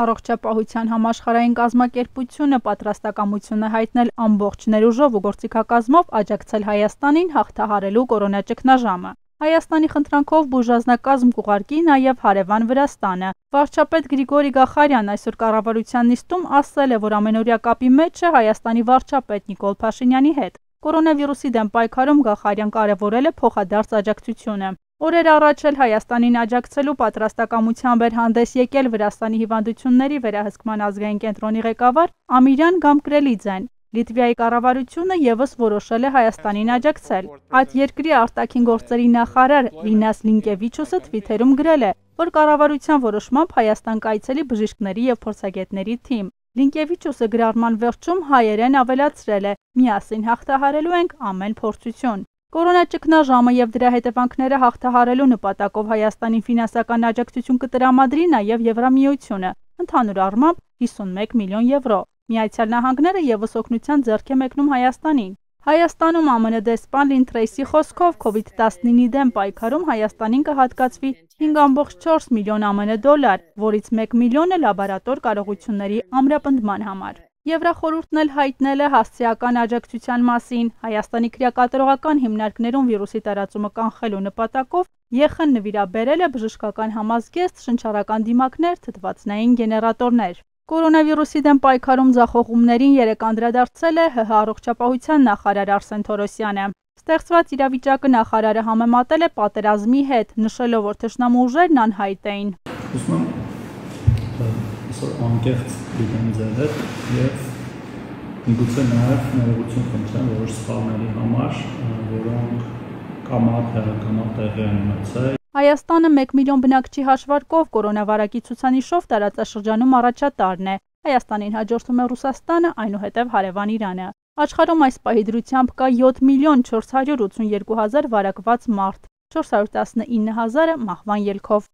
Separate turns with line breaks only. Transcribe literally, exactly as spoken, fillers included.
Առողջապահության համաշխարհային կազմակերպությունը պատրաստակամություն է հայտնել ամբողջ ներուժով ու գործիքակազմով աջակցել Հայաստանին հաղթահարելու կորոնա ճգնաժամը։ Հայաստանի խնդրանքով բուժանձնակազմ կուղարկի նաև հարևան Վրաստանը։ Վարչապետ Գրիգորի Գախարյանն այսօր կառավարության նիստում ասել է, որ ամենօրյա կապի մեջ է Հայաստանի վարչապետ Նիկոլ Փաշինյանի հետ։ Կորոնավիրուսի դեմ պայքարում Գախարյան կարևորել է փոխադարձ աջակցությունը։ Օրեր առաջ էլ Հայաստանին աջակցելու պատրաստակամությամբ էր հանդես եկել Վրաստանի հիվանդությունների վերահսկման ազգային կենտրոնի ղեկավար Ամիրյան Գամկրելիձեն։ Լիտվայի կառավարությունը ևս որոշել է Հայաստանին աջակցել։ Այդ երկրի արտաքին գործերի նախարար Լինաս Լինկևիչուսը թվիթերում գրել է, որ կառավարության որոշմամբ Հայաստան կայցելի բժիշկների և փորձագետների թիմ։ Լինկևիչուսը գրառման վերջում հայերեն ավելացրել է. «Միասին հաղթահարելու ենք ամեն փորձություն»։ Կորոնա ճգնաժամը և դրա հետևանքները հաղթահարելու նպատակով Հայաստանին ֆինանսական աջակցություն կտրամադրի նաև Եվրամիությունը, ընդհանուր առմամբ հիսունմեկ միլիոն եվրո։ Միացյալ Նահանգները ևս օգնության ձեռք է մեկնում Հայաստանին։ Հայաստանում ԱՄՆ դեսպան Լին Թրեյսի խոսքով քովիդ տասնինի դեմ պայքարում Հայաստանին կհատկացվի հինգ կόμma չորս միլիոն ԱՄՆ դոլար, որից մեկ միլիոնը լաբորատոր կարողությունների ամրապնդման համար։ Եվրախորհուրդն էլ հայտնել է հասցեական աջակցության մասին։ Հայաստանի քրեակատարողական հիմնարկներում վիրուսի տարածումը կանխելու նպատակով Ե Խ Ն նվիրաբերել է բժշկական համազգեստ, շնչառական դիմակներ, թթվածնային գեներատորներ։ Կորոնավիրուսի դեմ պայքարում ձախողումներին երեկ անդրադարձել է Հ Հ առողջապահության նախարար Արսեն Թորոսյանը։ Ստեղծված իրավիճակը նախարարը համեմատել է պատերազմի հետ, նշելով, որ թշնամու ուժերն անհայտ էին։
Ուզում եմ այսօր անկեղծ լինեմ ձեր հետ և միգուցե նաև ներողություն խնդրեմ որոշ սխալների համար, որոնք կամա թե ակամա տեղի են ունեցել։
Հայաստանը մեկ միլիոն բնակչի հաշվարկով կորոնավարակի ցուցանիշով տարածաշրջանում առաջատարն է։ Հայաստանին հաջորդում է Ռուսաստանը, այնուհետև հարևան Իրանը։ Աշխարհում այս պահի դրությամբ կա յոթ միլիոն չորս հարյուր ութսունեքու հազար վարակված մարդ, չորս հարյուր տասնինը հազարը մահվան ելքով։